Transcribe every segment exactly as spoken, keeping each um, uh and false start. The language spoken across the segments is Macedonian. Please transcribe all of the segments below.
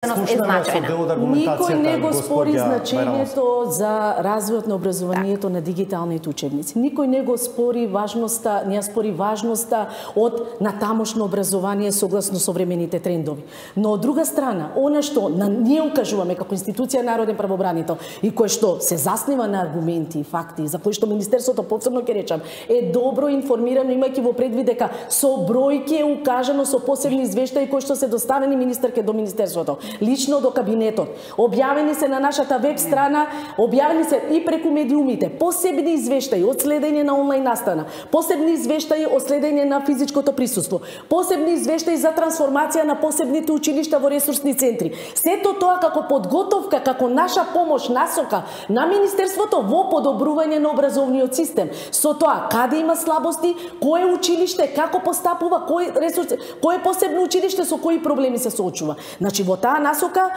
Никој не го спори значењето за развојот на образованието на дигиталните учебници. Никој не го спори важноста, не ја спори важноста од натамошно образование согласно современите трендови. Но од друга страна, она што на ние укажуваме како институција народен правобранител и кој што се заснива на аргументи и факти, за кои што Министерството посебно ќе речам, е добро информирано, имајќи во предвид дека со бројки е укажано со посебни извештаи кои што се доставени министерке до Министерството, лично до кабинетот. Објавени се на нашата веб страна, објавени се и преку медиумите, посебни извештаи од следење на онлайн настана, посебни извештаи од следење на физичкото присуство, посебни извештаи за трансформација на посебните училишта во ресурсни центри. Сето тоа како подготовка, како наша помош, насока на Министерството во подобрување на образовниот систем. Со тоа, каде има слабости, кое училиште, како постапува, кој ресурс, кое посебно училиште со кои проблеми се соочува. Значи, во таа насока,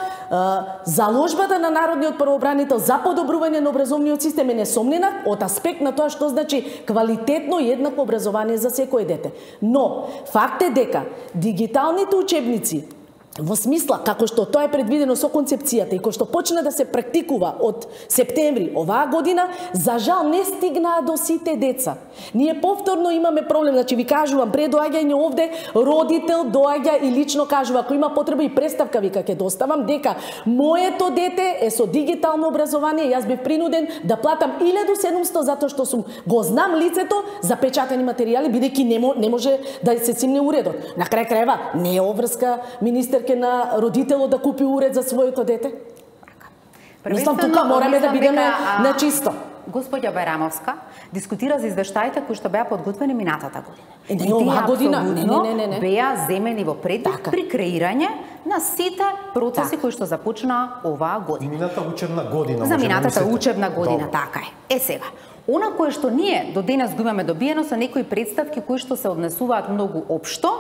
заложбата на народниот правобранител за подобрување на образовниот систем е несомнена од аспект на тоа што значи квалитетно и еднакво образование за секој дете. Но, факт е дека дигиталните учебници во смисла како што тоа е предвидено со концепцијата и кој што почна да се практикува од септември оваа година, за жал не стигнаа до сите деца. Ние повторно имаме проблем, значи ви кажувам, пред доаѓање овде, родител доаѓа и лично кажува, ако има потреба и представка вика ќе доставам, дека моето дете е со дигитално образование, јас бев принуден да платам илјаду и седумстотини затоа што сум го знам лицето за печатени материјали, бидејќи не, не може да се цимне уредот. На крај крајва не е обврска министер на родителот да купи уред за своето дете? Мислам, тука мораме да бидеме на чисто. Господја Бајрамовска дискутира за извештаите кои што беа подготвени минатата година. Е, не, оваа година, не, не, не, не. Беа земени во предвид при креирање на сите процеси така кои што започнаа оваа година. Мината учебна година. За минатата учебна година, така е. Е сега, она кое што ние до денес го имаме добиено се некои представки кои што се однесуваат многу општо,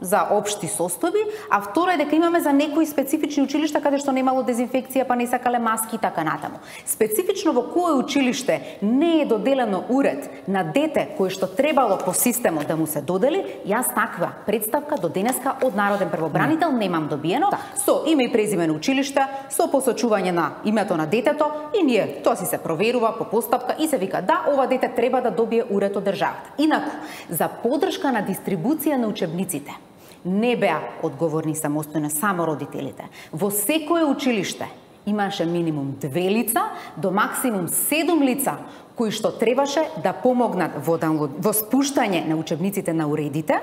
за општи состојби, а второ е дека имаме за некои специфични училишта каде што немало дезинфекција, па не сакале маски и така натаму. Специфично во кое училиште не е доделено уред на дете кој што требало по системот да му се додели, јас таква представка до денеска од народен правобранител немам добиено, так. Со име и презиме на училиште, со посочување на името на детето и ние тоа си се проверува по постапка и се вика да, ова дете треба да добие уред од државата. Инаку, за поддршка на дистрибуција на учебниците не беа одговорни самостојно само родителите. Во секое училиште имаше минимум две лица до максимум седум лица кои што требаше да помогнат во, во спуштање на учебниците на уредите.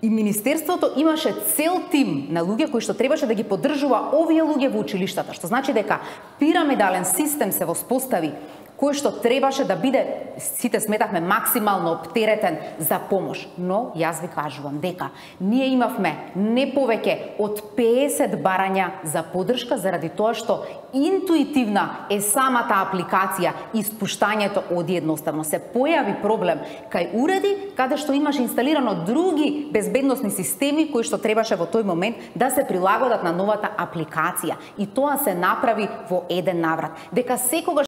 И Министерството имаше цел тим на луѓе кои што требаше да ги поддржува овие луѓе во училиштата, што значи дека пирамидален систем се воспостави кој што требаше да биде, сите сметавме, максимално оптеретен за помош. Но, јас ви кажувам дека ние имавме не повеќе од песет барања за поддршка заради тоа што интуитивна е самата апликација и спуштањето оди едноставно. Се појави проблем кај уреди каде што имаш инсталирано други безбедносни системи кои што требаше во тој момент да се прилагодат на новата апликација. И тоа се направи во еден наврат. Дека секогаш